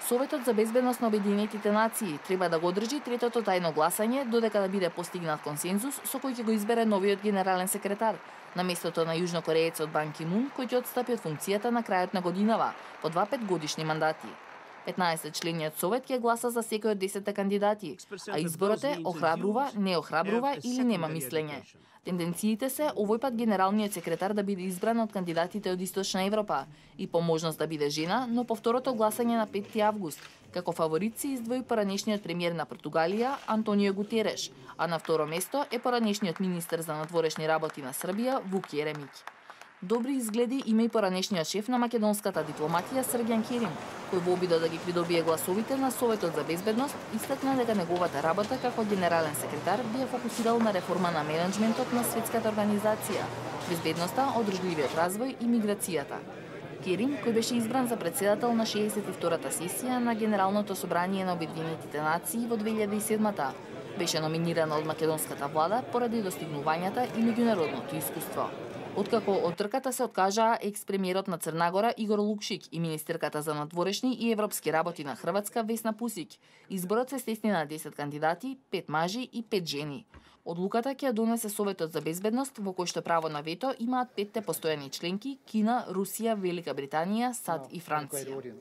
Советот за безбедност на Обединетите нации треба да го одржи третото тајно гласање додека да биде постигнат консензус со кој ќе го избере новиот генерален секретар, на местото на јужнокореецот Бан Ки Мун, кој ќе отстапи од функцијата на крајот на годинава, по 2 5-годишни мандати. 15-члениот совет ќе гласа за секој од 10 кандидати, а изборот е охрабрува, не охрабрува или нема мислење. Тенденциите се овој пат генералниот секретар да биде избран од кандидатите од Источна Европа и по можност да биде жена, но по второто гласање на 5 август, како фаворит се издвои поранешниот премиер на Португалија Антонио Гутереш, а на второ место е поранешниот министер за надворешни работи на Србија Вук Јеремиќ. Добри изгледи има и поранешниот шеф на македонската дипломатија Срѓан Керим, кој во обидот да ги придобие гласовите на Советот за безбедност, истакна дека неговата работа како генерален секретар би ја фокусирал на реформа на менеджментот на светската организација, безбедноста, одржливиот развој и миграцијата. Керим, кој беше избран за председател на 62-та сесија на Генералното собрание на Обединетите нации во 2007-та, беше номиниран од македонската влада поради достигнувањата и меѓународното искуство. Откако од трката се откажаа екс-премиерот на Црна Гора Игор Лукшик и министерката за надворешни и европски работи на Хрватска Весна Пусик, изборот се стесни на 10 кандидати, 5 мажи и 5 жени. Одлуката ќе ја донесе Советот за безбедност, во кој што право на вето имаат 5 постојани членки: Кина, Русија, Велика Британија, САД и Франција.